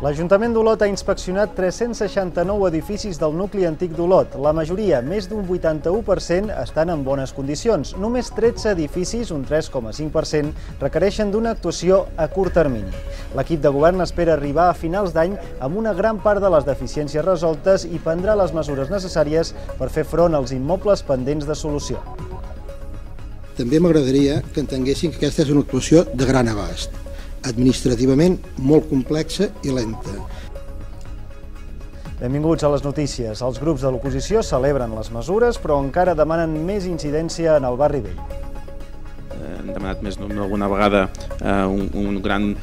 L'Ajuntament d'Olot ha inspeccionat 369 edificis del nucli antic d'Olot. La majoria, més d'un 81%, estan en bones condicions. Només 13 edificis, un 3,5%, requereixen d'una actuació a curt termini. L'equip de govern espera arribar a finals d'any amb una gran part de les deficiències resoltes i prendrà les mesures necessàries per fer front als immobles pendents de solució. També m'agradaria que entenguessin que aquesta és una actuació de gran abast, administrativament molt complexa i lenta. Benvinguts a les notícies. Els grups de l'oposició celebren les mesures, però encara demanen més incidència en el barri vell. Hem demanat més d'alguna vegada un gran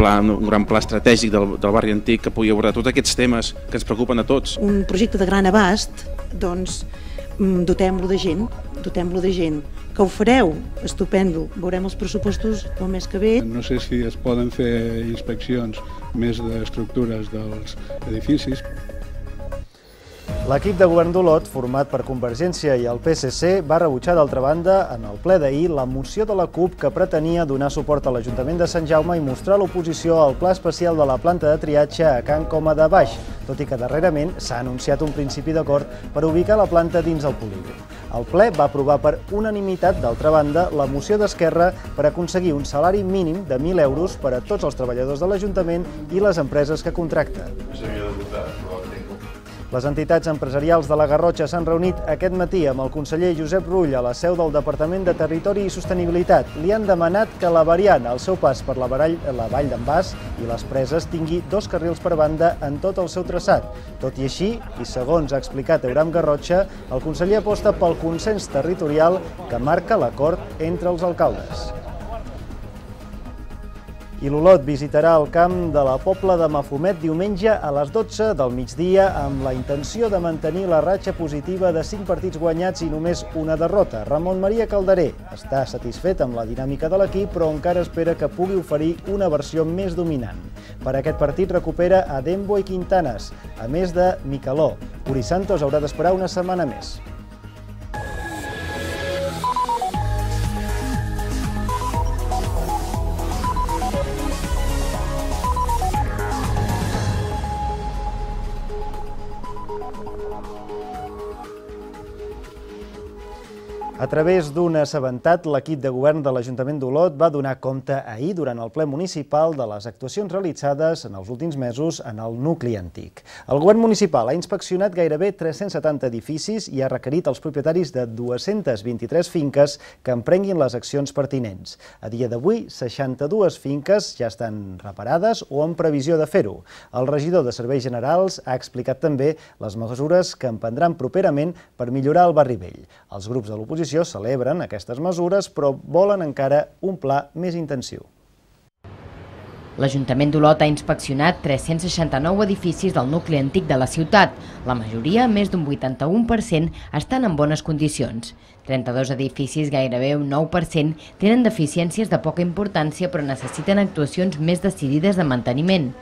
pla estratègic del barri antic que pugui abordar tots aquests temes que ens preocupen a tots. Un projecte de gran abast, doncs dotem-lo de gent, que ho fareu, estupendo, veurem els pressupostos el mes que ve. No sé si es poden fer inspeccions més d'estructures dels edificis. L'equip de govern d'Olot, format per Convergència i el PSC, va rebutjar d'altra banda, en el ple d'ahir, la moció de la CUP que pretenia donar suport a l'Ajuntament de Sant Jaume i mostrar l'oposició al pla especial de la planta de triatge a Can Coma de Baix, tot i que darrerament s'ha anunciat un principi d'acord per ubicar la planta dins el polígon. El ple va aprovar per unanimitat, d'altra banda, la moció d'Esquerra per aconseguir un salari mínim de 1.000 euros per a tots els treballadors de l'Ajuntament i les empreses que contracta. Les entitats empresarials de la Garrotxa s'han reunit aquest matí amb el conseller Josep Rull a la seu del Departament de Territori i Sostenibilitat. Li han demanat que la variant al seu pas per la vall d'en Bas i les Preses tingui 2 carrils per banda en tot el seu traçat. Tot i així, i segons ha explicat Euram Garrotxa, el conseller aposta pel consens territorial que marca l'acord entre els alcaldes. I l'Olot visitarà el camp de la Pobla de Mafumet diumenge a les 12 del migdia amb la intenció de mantenir la ratxa positiva de 5 partits guanyats i només una derrota. Ramon Maria Calderé està satisfet amb la dinàmica de l'equip, però encara espera que pugui oferir una versió més dominant. Per aquest partit recupera a Dembo i Quintanes, a més de Micaló. Uri Santos haurà d'esperar una setmana més. A través d'un assabentat, l'equip de govern de l'Ajuntament d'Olot va donar compte ahir, durant el ple municipal, de les actuacions realitzades en els últims mesos en el nucli antic. El govern municipal ha inspeccionat gairebé 370 edificis i ha requerit als propietaris de 223 finques que emprenguin les accions pertinents. A dia d'avui, 62 finques ja estan reparades o en previsió de fer-ho. El regidor de Serveis Generals ha explicat també les mesures que emprendran properament per millorar el barri vell. Els grups de l'oposició celebren aquestes mesures, però volen encara un pla més intensiu. L'Ajuntament d'Olot ha inspeccionat 369 edificis del nucli antic de la ciutat. La majoria, més d'un 81%, estan en bones condicions. 32 edificis, gairebé un 9%, tenen deficiències de poca importància però necessiten actuacions més decidides de manteniment.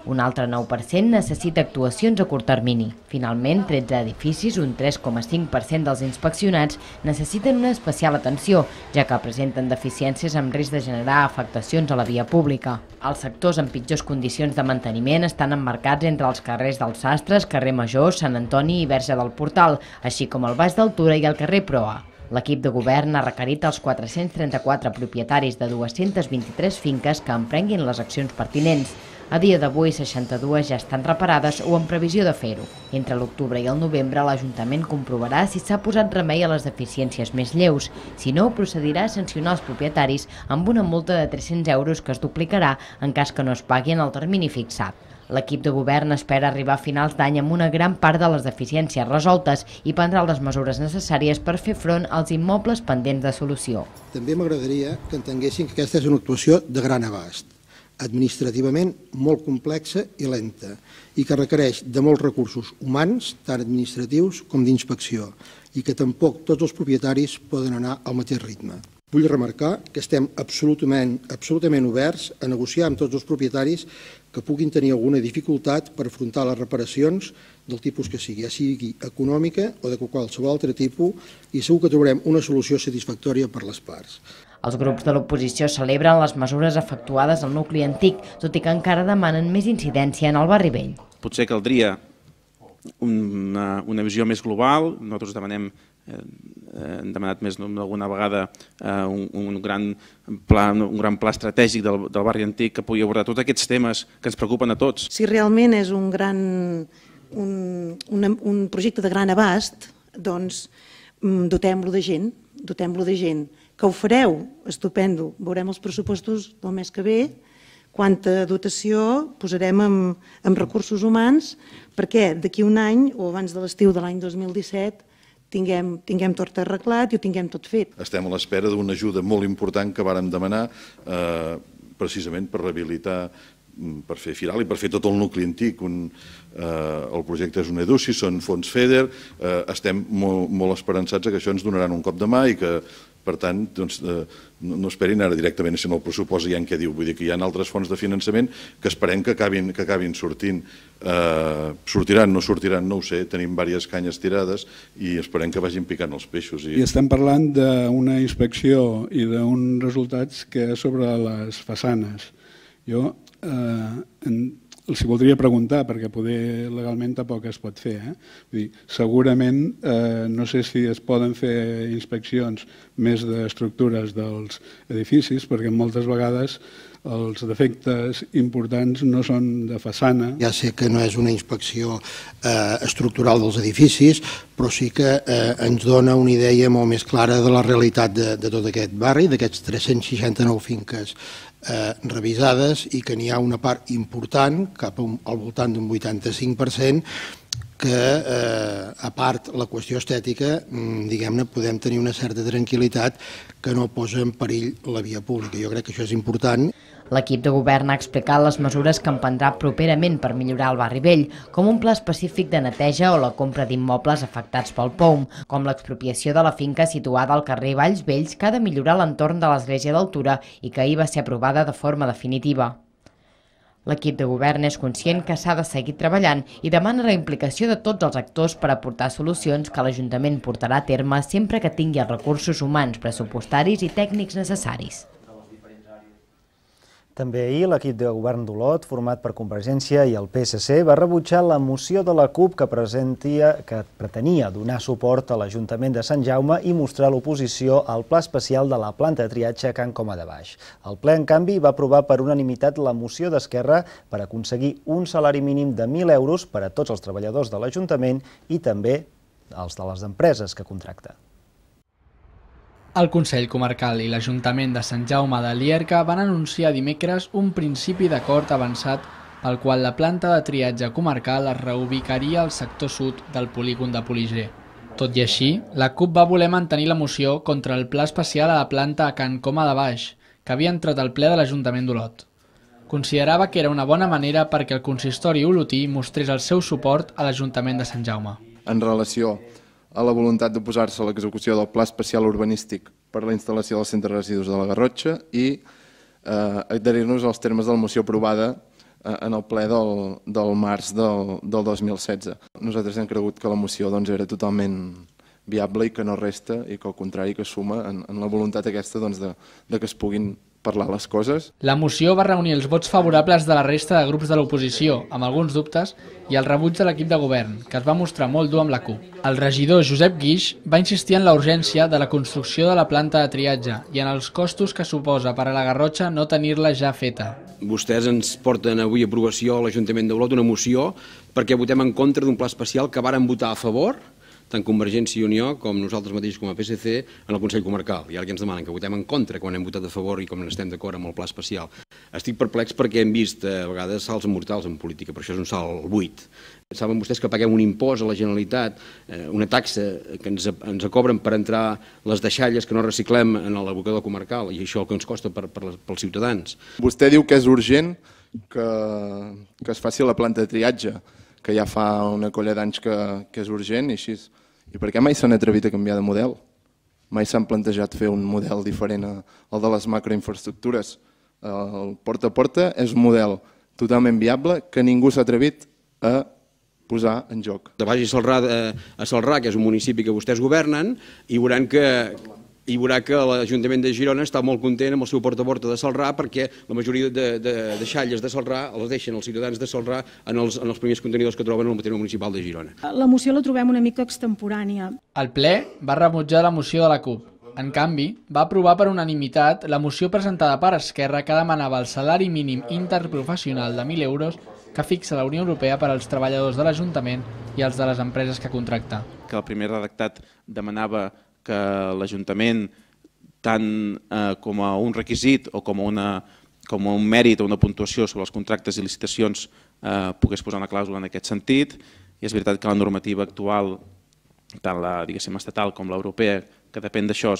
Un altre 9% necessita actuacions a curt termini. Finalment, 13 edificis, un 3,5% dels inspeccionats, necessiten una especial atenció, ja que presenten deficiències amb risc de generar afectacions a la via pública. Els sectors en pitjors condicions de manteniment estan emmarcats entre els carrers dels Sastres, carrer Major, Sant Antoni i Verge del Portal, així com el Baix d'Altura i el carrer Proa. L'equip de govern ha requerit als 434 propietaris de 223 finques que emprenguin les accions pertinents. A dia d'avui, 62 ja estan reparades o en previsió de fer-ho. Entre l'octubre i el novembre, l'Ajuntament comprovarà si s'ha posat remei a les deficiències més lleus. Si no, procedirà a sancionar els propietaris amb una multa de 300 euros que es duplicarà en cas que no es pagui en el termini fixat. L'equip de govern espera arribar a finals d'any amb una gran part de les deficiències resoltes i prendrà les mesures necessàries per fer front als immobles pendents de solució. També m'agradaria que entenguessin que aquesta és una actuació de gran abast, administrativament molt complexa i lenta, i que requereix de molts recursos humans, tant administratius com d'inspecció, i que tampoc tots els propietaris poden anar al mateix ritme. Vull remarcar que estem absolutament oberts a negociar amb tots els propietaris que puguin tenir alguna dificultat per afrontar les reparacions del tipus que sigui, ja sigui econòmica o de qualsevol altre tipus, i segur que trobarem una solució satisfactòria per les parts. Els grups de l'oposició celebren les mesures efectuades al nucli antic, tot i que encara demanen més incidència en el barri vell. Potser caldria una visió més global. Nosaltres hem demanat més d'alguna vegada un gran pla estratègic del barri antic que pugui abordar tots aquests temes que ens preocupen a tots. Si realment és un projecte de gran abast, doncs dotem-lo de gent, que ho fareu, estupendo, veurem els pressupostos del mes que ve, quanta dotació posarem en recursos humans perquè d'aquí un any o abans de l'estiu de l'any 2017 tinguem tot arreglat i ho tinguem tot fet. Estem a l'espera d'una ajuda molt important que vàrem demanar precisament per rehabilitar, per fer Firal i per fer tot el nucli antic. El projecte és un EDUSI, són fons FEDER, estem molt esperançats que això ens donaran un cop de mà i que, per tant, no esperin ara directament si en el pressupost hi ha què diu. Vull dir que hi ha altres fonts de finançament que esperem que acabin sortint. Sortiran, no sortiran, no ho sé, tenim diverses canyes tirades i esperem que vagin picant els peixos. I estem parlant d'una inspecció i d'uns resultats que és sobre les façanes. Jo els voldria preguntar, perquè poder legalment tampoc es pot fer. Vull dir, segurament, no sé si es poden fer inspeccions més d'estructures dels edificis, perquè moltes vegades els defectes importants no són de façana. Ja sé que no és una inspecció estructural dels edificis, però sí que ens dona una idea molt més clara de la realitat de tot aquest barri, d'aquests 369 finques revisades, i que n'hi ha una part important, cap al voltant d'un 85%, que, a part la qüestió estètica, diguem-ne, podem tenir una certa tranquil·litat que no posa en perill la via pública. Jo crec que això és important. L'equip de govern ha explicat les mesures que emprendrà properament per millorar el barri vell, com un pla específic de neteja o la compra d'immobles afectats pel POUM, com l'expropiació de la finca situada al carrer Valls Vells, que ha de millorar l'entorn de l'església d'Altura i que ahir va ser aprovada de forma definitiva. L'equip de govern és conscient que s'ha de seguir treballant i demana la implicació de tots els actors per aportar solucions que l'Ajuntament portarà a terme sempre que tingui els recursos humans, pressupostaris i tècnics necessaris. També ahir l'equip de govern d'Olot, format per Convergència i el PSC, va rebutjar la moció de la CUP que pretenia donar suport a l'Ajuntament de Sant Jaume i mostrar l'oposició al pla especial de la planta de triatge a Can Coma de Baix. El ple, en canvi, va aprovar per unanimitat la moció d'Esquerra per aconseguir un salari mínim de 1.000 euros per a tots els treballadors de l'Ajuntament i també els de les empreses que contracta. El Consell Comarcal i l'Ajuntament de Sant Jaume de Llierca van anunciar dimecres un principi d'acord avançat pel qual la planta de triatge comarcal es reubicaria al sector sud del polígon de Poliger. Tot i així, la CUP va voler mantenir la moció contra el pla especial a la planta a Can Coma de Baix, que havia entrat al ple de l'Ajuntament d'Olot. Considerava que era una bona manera perquè el consistori olotí mostrés el seu suport a l'Ajuntament de Sant Jaume. En relació a la voluntat d'oposar-se a l'execució del Pla Especial Urbanístic per la instal·lació del Centre de Residus de la Garrotxa i adherir-nos als termes de la moció aprovada en el ple del març del 2016. Nosaltres hem cregut que la moció era totalment viable i que no resta i que al contrari que suma en la voluntat aquesta de que es puguin parlar les coses. La moció va reunir els vots favorables de la resta de grups de l'oposició, amb alguns dubtes, i el rebuig de l'equip de govern, que es va mostrar molt dur amb la CUP. El regidor Josep Guix va insistir en la urgència de la construcció de la planta de triatge i en els costos que suposa per a la Garrotxa no tenir-la ja feta. Vostès ens porten avui a aprovació a l'Ajuntament d'Olot una moció perquè votem en contra d'un pla especial que varen votar a favor tant Convergència i Unió com nosaltres mateixos com a PSC en el Consell Comarcal. I ara que ens demanen que votem en contra quan hem votat a favor i com estem d'acord amb el pla especial. Estic perplex perquè hem vist a vegades salts mortals en política, però això és un salt buit. Saben vostès que paguem un impost a la Generalitat, una taxa que ens cobren per entrar les deixalles que no reciclem en l'abocador comarcal i això el que ens costa pels ciutadans. Vostè diu que és urgent que es faci la planta de triatge, que ja fa una colla d'anys que és urgent i així. I per què mai s'han atrevit a canviar de model? Mai s'han plantejat fer un model diferent al de les macroinfraestructures. El porta a porta és un model totalment viable que ningú s'ha atrevit a posar en joc. Vagi a Celrà, que és un municipi que vostès governen, i veuran que i veurà que l'Ajuntament de Girona està molt content amb el seu porta a porta de Celrà, perquè la majoria de deixalles de Celrà els deixen els ciutadans de Celrà en els primers contenidors que troben al terme municipal de Girona. La moció la trobem una mica extemporània. El ple va rebutjar la moció de la CUP. En canvi, va aprovar per unanimitat la moció presentada per Esquerra que demanava el salari mínim interprofessional de 1.000 euros que fixa la Unió Europea per als treballadors de l'Ajuntament i els de les empreses que contracta. Que el primer redactat demanava que l'Ajuntament, tant com a un requisit o com a un mèrit o una puntuació sobre els contractes i licitacions, pogués posar una clàusula en aquest sentit. I és veritat que la normativa actual, tant la estatal com l'europea, que depèn d'això,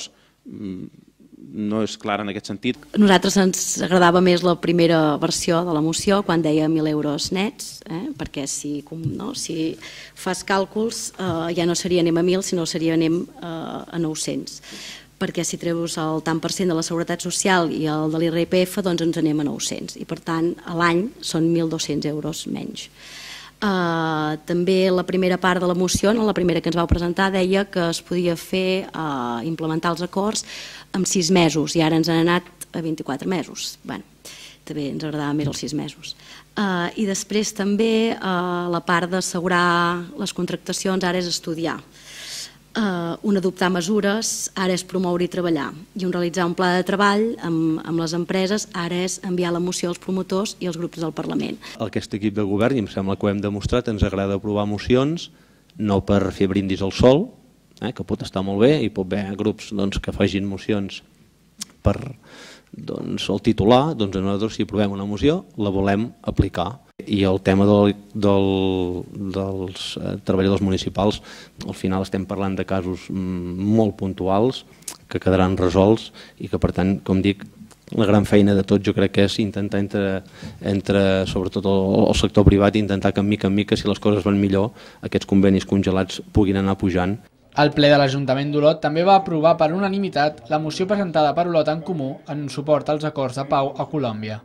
no és clara en aquest sentit. A nosaltres ens agradava més la primera versió de la moció, quan deia 1.000 euros nets, perquè si fas càlculs ja no seria anem a 1.000, sinó seria anem a 900. Perquè si treus el tant per cent de la Seguretat Social i el de l'IRPF, doncs ens anem a 900. I per tant, a l'any són 1.200 euros menys. També la primera part de la moció, la primera que ens vau presentar, deia que es podia fer implementar els acords en 6 mesos i ara ens han anat a 24 mesos. Bé, també ens agradava més els 6 mesos. I després també la part d'assegurar les contractacions ara és estudiar. Un adoptar mesures ara és promoure i treballar, i un realitzar un pla de treball amb les empreses ara és enviar la moció als promotors i als grups del Parlament. Aquest equip de govern, i em sembla que ho hem demostrat, ens agrada aprovar mocions, no per fer brindis al sol, que pot estar molt bé, i pot haver grups que facin mocions per el titular, doncs nosaltres si aprovem una moció la volem aplicar. I el tema dels treballadors municipals, al final estem parlant de casos molt puntuals que quedaran resolts i que per tant, com dic, la gran feina de tot jo crec que és intentar entre sobretot el sector privat, intentar que mica en mica, si les coses van millor, aquests convenis congelats puguin anar pujant. El ple de l'Ajuntament d'Olot també va aprovar per unanimitat la moció presentada per Olot en Comú en suport als acords de pau a Colòmbia.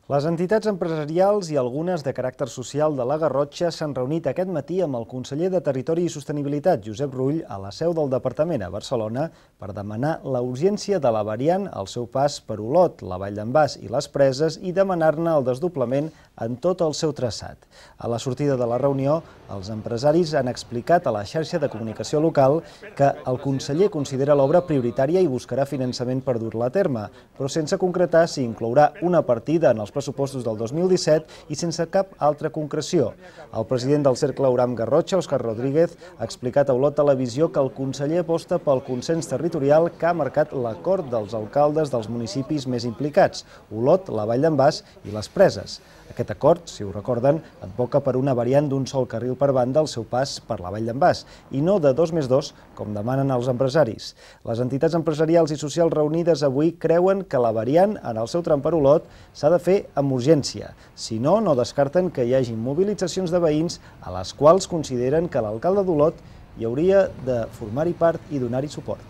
Les entitats empresarials i algunes de caràcter social de la Garrotxa s'han reunit aquest matí amb el conseller de Territori i Sostenibilitat, Josep Rull, a la seu del departament a Barcelona per demanar la urgència de la variant al seu pas per Olot, la Vall d'en Bas i les Preses i demanar-ne el desdoblament en tot el seu traçat. A la sortida de la reunió, els empresaris han explicat a la xarxa de comunicació local que el conseller considera l'obra prioritària i buscarà finançament per dur-la a terme, però sense concretar si inclourà una partida en els pressupostos del 2017 i sense cap altra concreció. El president del Cercle Auram Garrotxa, Òscar Rodríguez, ha explicat a Olot Televisió que el conseller aposta pel consens territorial que ha marcat l'acord dels alcaldes dels municipis més implicats, Olot, la Vall d'en Bas i les Preses. Aquest acord, si ho recorden, advoca per una variant d'un sol carril per banda al seu pas per la Vall d'en Bas i no de 2+2, com demanen els empresaris. Les entitats empresarials i socials reunides avui creuen que la variant en el seu tram per Olot s'ha de fer amb urgència. Si no, no descarten que hi hagi mobilitzacions de veïns a les quals consideren que l'alcalde d'Olot hi hauria de formar-hi part i donar-hi suport.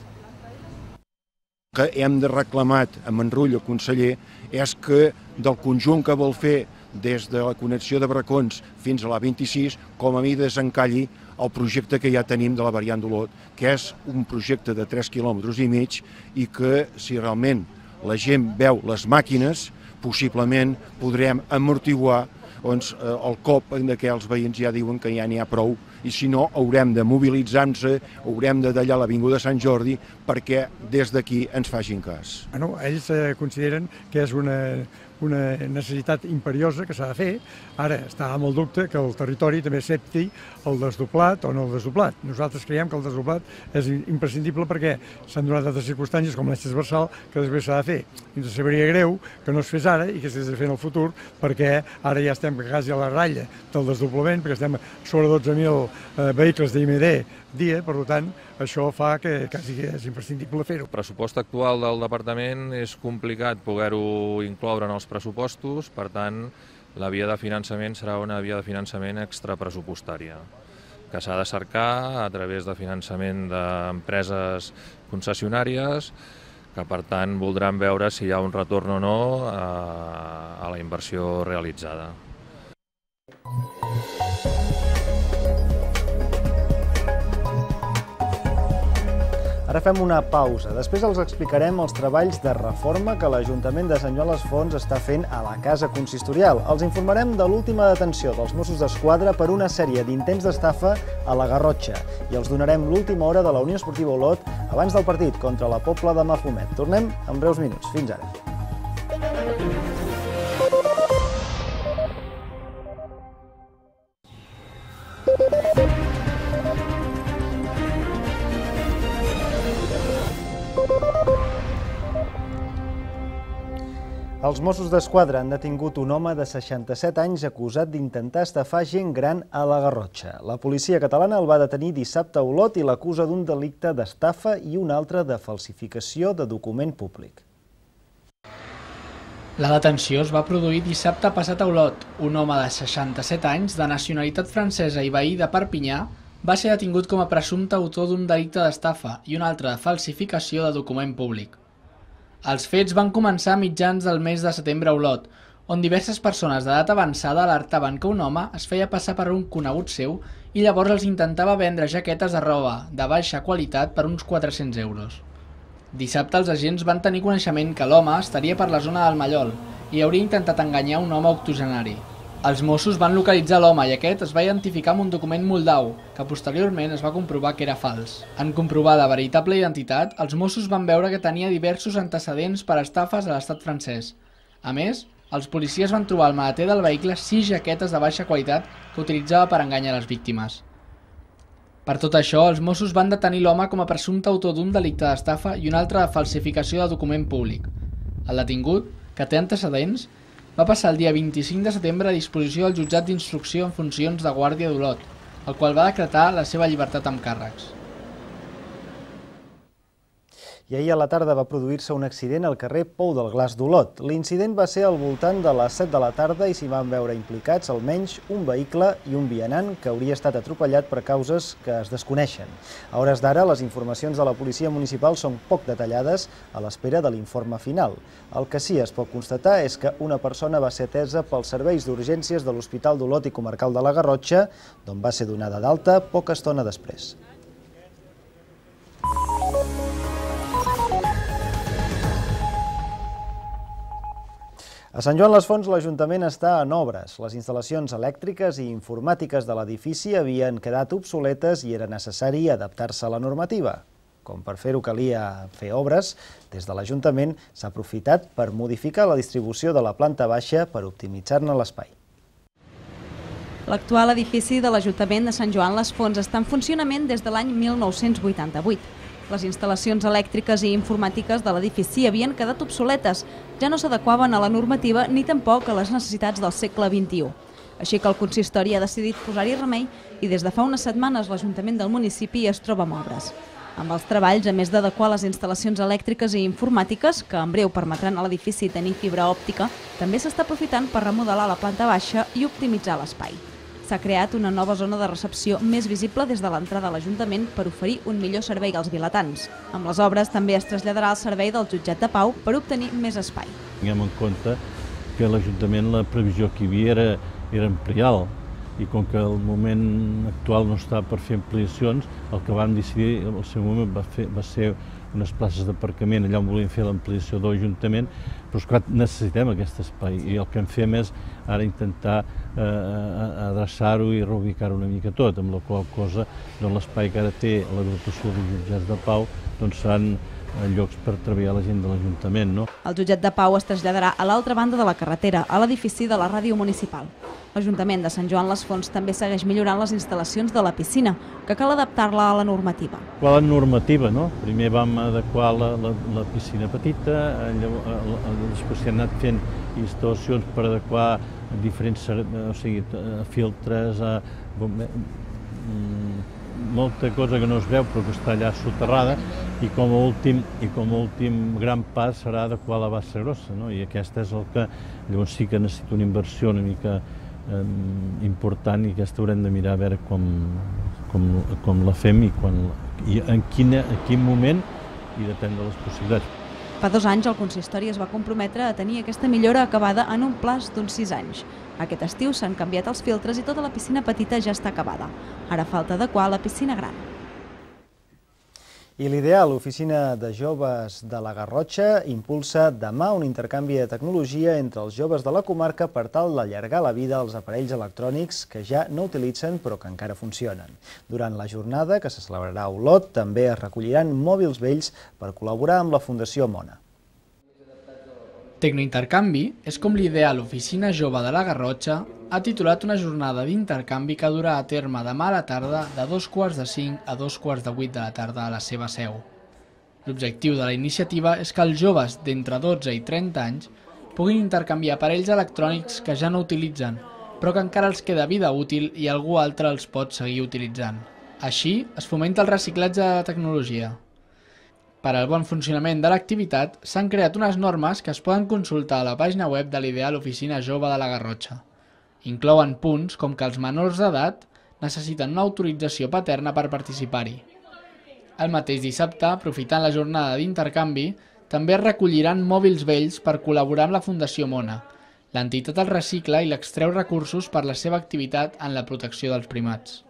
Que hem de reclamar amb en Rull, el conseller, és que del conjunt que vol fer des de la connexió de Bracons fins a la 26, com a mi desencalli el projecte que ja tenim de la variant d'Olot, que és un projecte de 3,5 quilòmetres i que, si realment la gent veu les màquines, possiblement podrem amortiguar el cop en què els veïns ja diuen que ja n'hi ha prou i si no haurem de mobilitzar-nos, haurem de tallar l'Avinguda Sant Jordi perquè des d'aquí ens facin cas. Ells consideren que és una necessitat imperiosa que s'ha de fer. Ara està amb el dubte que el territori també accepti el desdoblat o no el desdoblat. Nosaltres creiem que el desdoblat és imprescindible perquè s'han donat altres circumstàncies com l'eix transversal que després s'ha de fer. I ens sabria greu que no es fes ara i que s'hagués de fer en el futur perquè ara ja estem quasi a la ratlla del desdoblament perquè estem sobre 12.000 vehicles d'IMD dia, per tant, això fa que quasi és imprescindible fer-ho. El pressupost actual del departament és complicat poder-ho incloure en els pressupostos, per tant, la via de finançament serà una via de finançament extrapressupostària, que s'ha de cercar a través de finançament d'empreses concessionàries, que per tant voldran veure si hi ha un retorn o no a la inversió realitzada. Ara fem una pausa. Després els explicarem els treballs de reforma que l'Ajuntament de Sant Joan les Fonts està fent a la Casa Consistorial. Els informarem de l'última detenció dels Mossos d'Esquadra per una sèrie d'intents d'estafa a la Garrotxa i els donarem l'última hora de la Unió Esportiva Olot abans del partit contra la Pobla de Mafumet. Tornem en breus minuts. Fins ara. Els Mossos d'Esquadra han detingut un home de 67 anys acusat d'intentar estafar gent gran a la Garrotxa. La policia catalana el va detenir dissabte a Olot i l'acusa d'un delicte d'estafa i un altre de falsificació de document públic. La detenció es va produir dissabte passat a Olot. Un home de 67 anys, de nacionalitat francesa i veí de Perpinyà, va ser detingut com a presumpte autor d'un delicte d'estafa i un altre de falsificació de document públic. Els fets van començar a mitjans del mes de setembre a Olot, on diverses persones d'edat avançada alertaven que un home es feia passar per un conegut seu i llavors els intentava vendre jaquetes de roba de baixa qualitat per uns 400 euros. Dissabte els agents van tenir coneixement que l'home estaria per la zona del Mallol i hauria intentat enganyar un home octogenari. Els Mossos van localitzar l'home i aquest es va identificar amb un document moldau, que posteriorment es va comprovar que era fals. En comprovar la veritable identitat, els Mossos van veure que tenia diversos antecedents per estafes a l'estat francès. A més, els policies van trobar al maleter del vehicle 6 jaquetes de baixa qualitat que utilitzava per enganyar les víctimes. Per tot això, els Mossos van detenir l'home com a presumpte autor d'un delicte d'estafa i un altre de falsificació de document públic. El detingut, que té antecedents, va passar el dia 25 de setembre a disposició del jutjat d'instrucció en funcions de Guàrdia d'Olot, el qual va decretar la seva llibertat amb càrrecs. I ahir a la tarda va produir-se un accident al carrer Pou del Glaç d'Olot. L'incident va ser al voltant de les 7 de la tarda i s'hi van veure implicats almenys un vehicle i un vianant que hauria estat atropellat per causes que es desconeixen. A hores d'ara, les informacions de la policia municipal són poc detallades a l'espera de l'informe final. El que sí es pot constatar és que una persona va ser atesa pels serveis d'urgències de l'Hospital d'Olot i Comarcal de la Garrotxa, d'on va ser donada d'alta poca estona després. A Sant Joan les Fonts l'Ajuntament està en obres. Les instal·lacions elèctriques i informàtiques de l'edifici havien quedat obsoletes i era necessari adaptar-se a la normativa. Com per fer-ho calia fer obres, des de l'Ajuntament s'ha aprofitat per modificar la distribució de la planta baixa per optimitzar-ne l'espai. L'actual edifici de l'Ajuntament de Sant Joan les Fonts està en funcionament des de l'any 1988. Les instal·lacions elèctriques i informàtiques de l'edifici havien quedat obsoletes, ja no s'adequaven a la normativa ni tampoc a les necessitats del segle XXI. Així que el consistori ha decidit posar-hi remei i des de fa unes setmanes l'Ajuntament del municipi es troba amb obres. Amb els treballs, a més d'adequar les instal·lacions elèctriques i informàtiques, que en breu permetran a l'edifici tenir fibra òptica, també s'està aprofitant per remodelar la planta baixa i optimitzar l'espai. S'ha creat una nova zona de recepció més visible des de l'entrada a l'Ajuntament per oferir un millor servei als vilatans. Amb les obres també es traslladarà el servei del jutjat de pau per obtenir més espai. Tinguem en compte que l'Ajuntament, la previsió que hi havia era ampliar, i com que el moment actual no està per fer ampliacions, el que vam decidir en el seu moment va ser unes places d'aparcament allà on volíem fer l'ampliació de l'Ajuntament, però és clar, necessitem aquest espai i el que en fem és ara intentar adreçar-ho i reubicar-ho una mica tot, amb la qual cosa l'espai que ara té l'agrupació de jutjats de pau seran llocs per treballar la gent de l'Ajuntament. El jutjat de pau es traslladarà a l'altra banda de la carretera, a l'edifici de la ràdio municipal. L'Ajuntament de Sant Joan les Fonts també segueix millorant les instal·lacions de la piscina, que cal adaptar-la a la normativa. La normativa, primer vam adequar la piscina petita, després s'hi han anat fent instal·lacions per adequar diferents filtres, molta cosa que no es veu però que està allà soterrada, i com a últim gran pas serà adequar la bassa grossa, i aquesta és el que llavors sí que necessita una inversió una mica important i aquesta haurem de mirar a veure com la fem i en quin moment i depèn de les possibilitats. Fa 2 anys el consistori es va comprometre a tenir aquesta millora acabada en un plaç d'uns 6 anys. Aquest estiu s'han canviat els filtres i tota la piscina petita ja està acabada. Ara falta adequar la piscina gran. I l'Ideal, l'Oficina de Joves de la Garrotxa, impulsa demà un intercanvi de tecnologia entre els joves de la comarca per tal d'allargar la vida als aparells electrònics que ja no utilitzen però que encara funcionen. Durant la jornada, que se celebrarà a Olot, també es recolliran mòbils vells per col·laborar amb la Fundació Mona. Tecnointercanvi és com l'Ideal, l'Oficina Jove de la Garrotxa, ha titulat una jornada d'intercanvi que durà a terme demà a la tarda de 2:45 a 2:45 de la tarda a la seva seu. L'objectiu de la iniciativa és que els joves d'entre 12 i 30 anys puguin intercanviar aparells electrònics que ja no utilitzen, però que encara els queda vida útil i algú altre els pot seguir utilitzant. Així, es fomenta el reciclatge de la tecnologia. Per al bon funcionament de l'activitat, s'han creat unes normes que es poden consultar a la pàgina web de l'Ideal Oficina Jove de la Garrotxa. Inclouen punts com que els menors d'edat necessiten una autorització paterna per participar-hi. El mateix dissabte, aprofitant la jornada d'intercanvi, també es recolliran mòbils vells per col·laborar amb la Fundació Mona. L'entitat els recicla i l'extreu recursos per la seva activitat en la protecció dels primats.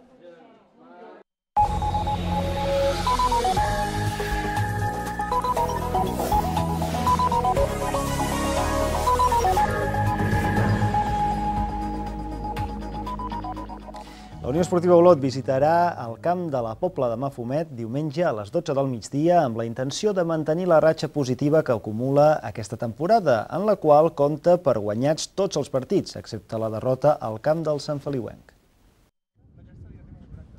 La Unió Esportiva Olot visitarà el camp de la Pobla de Mafumet diumenge a les 12 del migdia amb la intenció de mantenir la ratxa positiva que acumula aquesta temporada, en la qual compta per guanyats tots els partits, excepte la derrota al camp del Sant Feliuenc.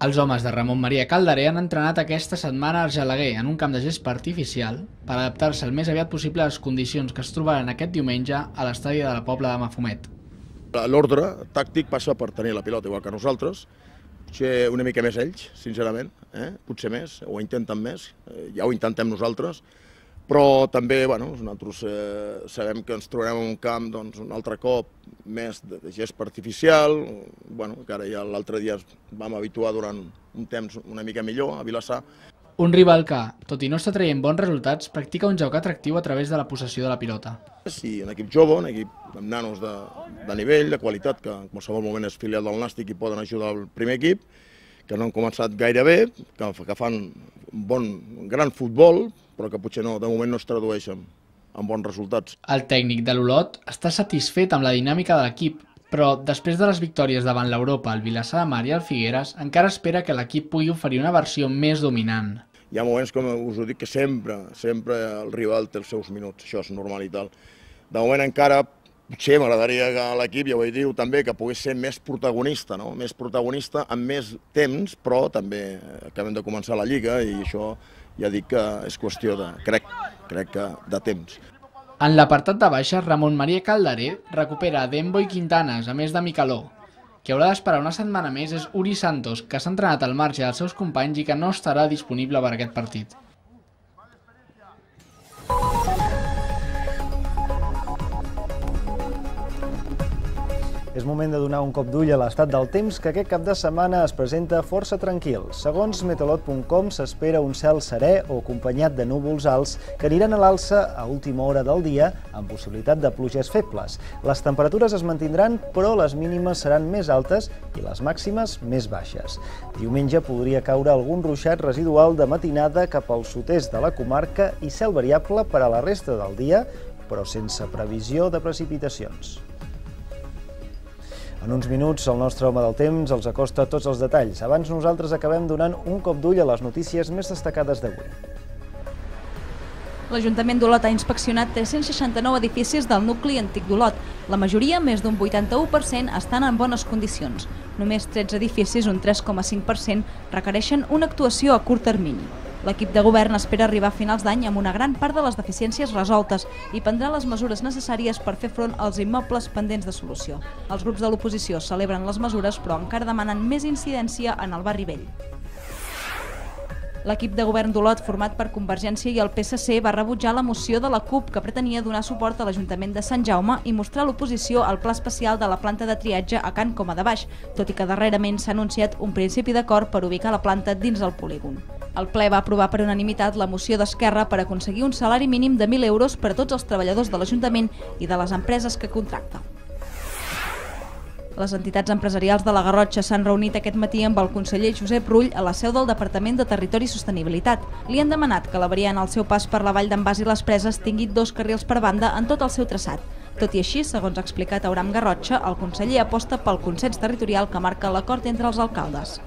Els homes de Ramon Maria Calderé han entrenat aquesta setmana a Argelaguer en un camp de gespa artificial per adaptar-se el més aviat possible a les condicions que es trobaran aquest diumenge a l'estadi de la Pobla de Mafumet. L'ordre tàctic passa per tenir la pilota igual que nosaltres, potser una mica més ells, sincerament, potser més, ho intenten més, ja ho intentem nosaltres, però també nosaltres sabem que ens trobarem en un camp un altre cop més de gespa artificial, encara ja l'altre dia vam habituar durant un temps una mica millor a Vilassar. Un rival que, tot i no està traient bons resultats, practica un joc atractiu a través de la possessió de la pilota. Sí, un equip jove, un equip amb nanos de nivell, de qualitat, que en qualsevol moment és filial del Nàstic i poden ajudar el primer equip, que no han començat gaire bé, que fan un gran futbol, però que potser de moment no es tradueixen en bons resultats. El tècnic de l'Olot està satisfet amb la dinàmica de l'equip, però després de les victòries davant l'Europa, el Vilassar de Mar i el Figueres, encara espera que l'equip pugui oferir una versió més dominant. Hi ha moments, com us ho dic, que sempre el rival té els seus minuts, això és normal i tal. De moment encara potser m'agradaria que l'equip, ja ho he dit també, que pogués ser més protagonista, més protagonista amb més temps, però també acabem de començar la Lliga i això ja dic que és qüestió de, crec que de temps. En l'apartat de baixes, Ramon Maria Calderé recupera Dembo i Quintanes, a més de Micaló. Qui haurà d'esperar una setmana més és Uri Santos, que s'ha entrenat al marge dels seus companys i que no estarà disponible per aquest partit. És moment de donar un cop d'ull a l'estat del temps, que aquest cap de setmana es presenta força tranquil. Segons meteorolog.com, s'espera un cel serè o acompanyat de núvols alts que aniran a l'alça a última hora del dia amb possibilitat de pluges febles. Les temperatures es mantindran, però les mínimes seran més altes i les màximes més baixes. Diumenge podria caure algun ruixat residual de matinada cap al sud-est de la comarca i cel variable per a la resta del dia, però sense previsió de precipitacions. En uns minuts, el nostre home del temps els acosta tots els detalls. Abans nosaltres acabem donant un cop d'ull a les notícies més destacades d'avui. L'Ajuntament d'Olot ha inspeccionat 369 edificis del nucli antic d'Olot. La majoria, més d'un 81%, estan en bones condicions. Només 13 edificis, un 3,5%, requereixen una actuació a curt termini. L'equip de govern espera arribar a finals d'any amb una gran part de les deficiències resoltes i prendrà les mesures necessàries per fer front als immobles pendents de solució. Els grups de l'oposició celebren les mesures, però encara demanen més incidència en el barri vell. L'equip de govern d'Olot, format per Convergència i el PSC, va rebutjar la moció de la CUP que pretenia donar suport a l'Ajuntament de Sant Jaume i mostrar l'oposició al pla especial de la planta de triatge a Can Coma de Baix, tot i que darrerament s'ha anunciat un principi d'acord per ubicar la planta dins del polígon. El ple va aprovar per unanimitat la moció d'Esquerra per aconseguir un salari mínim de 1.000 euros per a tots els treballadors de l'Ajuntament i de les empreses que contracta. Les entitats empresarials de la Garrotxa s'han reunit aquest matí amb el conseller Josep Rull a la seu del Departament de Territori i Sostenibilitat. Li han demanat que la variant al seu pas per la Vall d'en Bas i les Preses tingui 2 carrils per banda en tot el seu traçat. Tot i així, segons ha explicat Auram Garrotxa, el conseller aposta pel consens territorial que marca l'acord entre els alcaldes.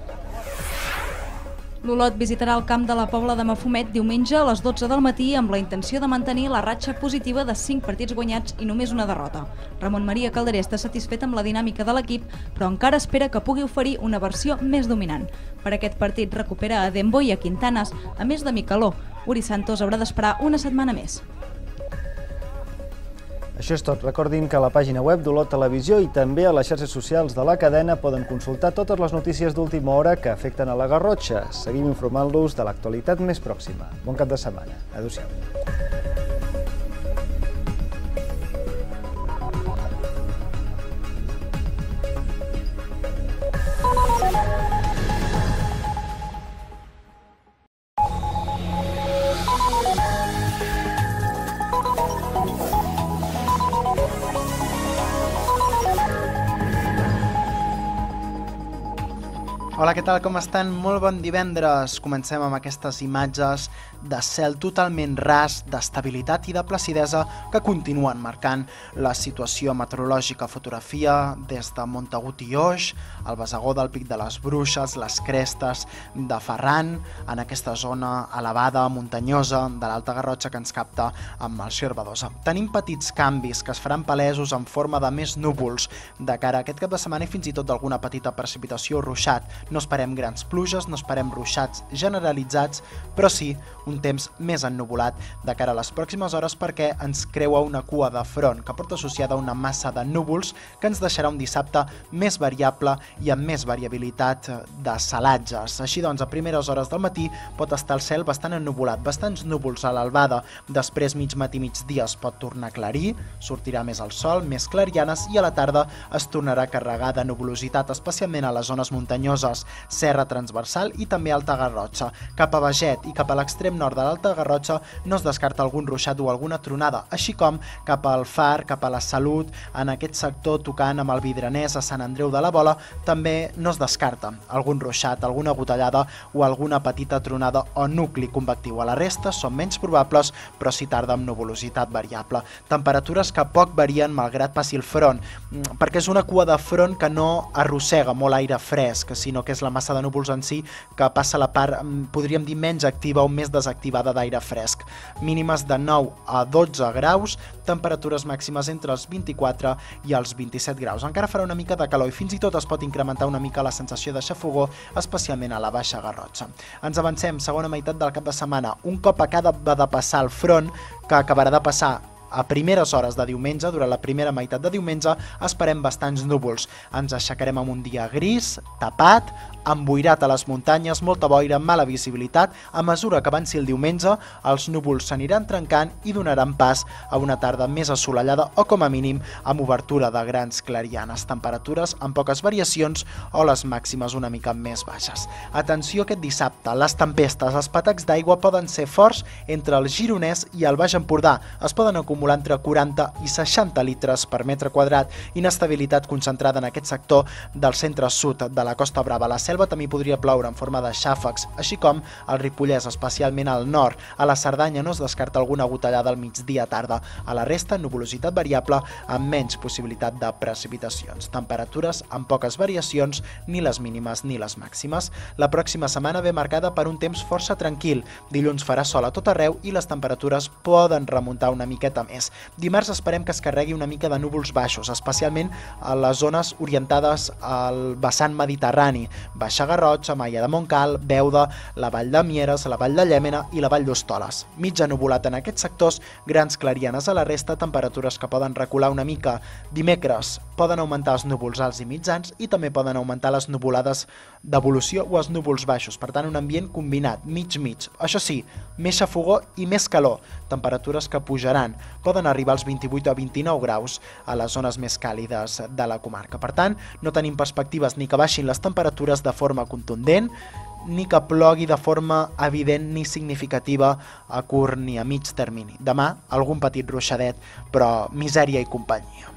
L'Olot visitarà el camp de la Pobla de Mafumet diumenge a les 12 del matí amb la intenció de mantenir la ratxa positiva de 5 partits guanyats i només una derrota. Ramon Maria Calderé està satisfet amb la dinàmica de l'equip, però encara espera que pugui oferir una versió més dominant. Per aquest partit recupera a Dembo i a Quintanes, a més de Micaló. Uri Santos haurà d'esperar una setmana més. Això és tot. Recordin que a la pàgina web d'Olot Televisió i també a les xarxes socials de la cadena poden consultar totes les notícies d'última hora que afecten a la Garrotxa. Seguim informant-los de l'actualitat més pròxima. Bon cap de setmana. Adéu-siau. Hola, què tal? Com estan? Molt bon divendres. Comencem amb aquestes imatges de cel totalment ras, d'estabilitat i de placidesa que continuen marcant la situació meteorològica. Fotografia des de Montagut i Oix, el Besagó del Pic de les Bruixes, les crestes de Ferran, en aquesta zona elevada, muntanyosa de l'Alta Garrotxa que ens capta amb el Xervadosa. Tenim petits canvis que es faran palesos en forma de més núvols de cara a aquest cap de setmana i fins i tot d'alguna petita precipitació o ruixat. No esperem grans pluges, no esperem ruixats generalitzats, però sí un temps més ennuvolat de cara a les pròximes hores perquè ens creua una cua de front que porta associada una massa de núvols que ens deixarà un dissabte més variable i amb més variabilitat de salatges. Així doncs, a primeres hores del matí pot estar el cel bastant ennuvolat, bastants núvols a l'albada, després mig matí migdia es pot tornar a aclarir, sortirà més el sol, més clarianes i a la tarda es tornarà a carregar de nuvolositat, especialment a les zones muntanyoses, Serra Transversal i també Alta Garrotxa. Cap a Beget i cap a l'extrem nord de l'Alta Garrotxa no es descarta algun ruixat o alguna tronada, així com cap al Far, cap a la Salut, en aquest sector tocant amb el Vidranès a Sant Andreu de la Bola, també no es descarta algun ruixat, alguna gotellada o alguna petita tronada o nucli convectiu. A la resta són menys probables, però sí tarda amb nuvolositat variable. Temperatures que poc varien malgrat passi el front, perquè és una cua de front que no arrossega molt aire fresc, sinó que és la massa de núvols en si que passa la part, podríem dir, menys activa o més desactivada d'aire fresc. Mínimes de 9 a 12 graus, temperatures màximes entre els 24 i els 27 graus. Encara farà una mica de calor i fins i tot es pot incrementar una mica la sensació de xafogor, especialment a la Baixa Garrotxa. Ens avancem, segona meitat del cap de setmana. Un cop acaba de passar el front, que acabarà de passar a primeres hores de diumenge, durant la primera meitat de diumenge, esperem bastants núvols. Ens aixecarem amb un dia gris, tapat, emboirat a les muntanyes, molta boira, mala visibilitat. A mesura que avanci el diumenge, els núvols s'aniran trencant i donaran pas a una tarda més assolellada o, com a mínim, amb obertura de grans clarianes. Temperatures amb poques variacions o les màximes una mica més baixes. Atenció aquest dissabte, les tempestes, els patacs d'aigua poden ser forts entre el Gironès i el Baix Empordà. Es poden acumular entre 40 i 60 litres per metre quadrat, inestabilitat concentrada en aquest sector del centre-sud de la Costa Brava. A la Selva també podria ploure en forma de xàfecs, així com al Ripollès, especialment al nord. A la Cerdanya no es descarta alguna gotellada al migdia tarda. A la resta, nuvolositat variable amb menys possibilitat de precipitacions. Temperatures amb poques variacions, ni les mínimes ni les màximes. La pròxima setmana ve marcada per un temps força tranquil. Dilluns farà sol a tot arreu i les temperatures poden remuntar una miqueta més. Dimarts esperem que es carregui una mica de núvols baixos, especialment a les zones orientades al vessant mediterrani, Baixa Garrotxa, Maia de Montcal, Beuda, la Vall de Mieres, la Vall de Llémena i la Vall d'Hostoles. Mitja nuvolat en aquests sectors, grans clarianes a la resta, temperatures que poden recular una mica. Dimecres poden augmentar els núvols alts i mitjans i també poden augmentar les nuvolades d'evolució o els núvols baixos, per tant un ambient combinat, mig-mig. Això sí, més xafogor i més calor, temperatures que pujaran, poden arribar als 28 o 29 graus a les zones més càlides de la comarca. Per tant, no tenim perspectives ni que baixin les temperatures de forma contundent, ni que plogui de forma evident ni significativa a curt ni a mig termini. Demà, algun petit ruixadet, però misèria i companyia.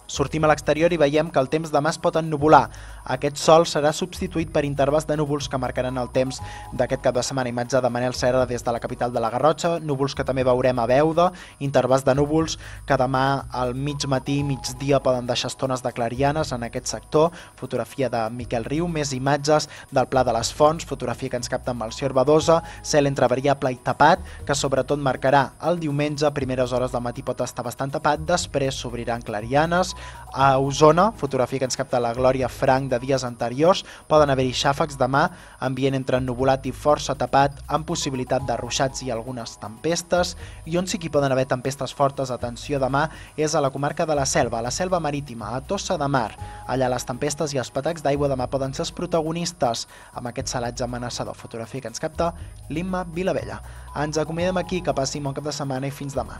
Sortim a l'exterior i veiem que el temps demà es pot ennuvolar. Aquest sol serà substituït per intervals de núvols que marcaran el temps d'aquest cap de setmana. Imatge de Manel Serra des de la capital de la Garrotxa, núvols que també veurem a Beuda, intervals de núvols que demà al mig matí, migdia poden deixar estones de clarianes en aquest sector. Fotografia de Miquel Riu, més imatges del Pla de les Fonts, fotografia que ens capta amb Melcior Badosa, cel entre variable i tapat, que sobretot marcarà el diumenge, a primeres hores del matí pot estar bastant tapat, després s'obriran clarianes. A Osona, fotografia que ens capta la Glòria Frank de dies anteriors, poden haver-hi xàfecs demà, ambient entre ennuvolat i força tapat, amb possibilitat de ruixats i algunes tempestes, i on sí que hi poden haver tempestes fortes, atenció demà, és a la comarca de la Selva Marítima, a Tossa de Mar. Allà les tempestes i els patacs d'aigua demà poden ser els protagonistes, amb aquest salatge amenaçador. Fotografia que ens capta l'Imma Vilavella. Ens acomiadem aquí, que passi un bon cap de setmana i fins demà.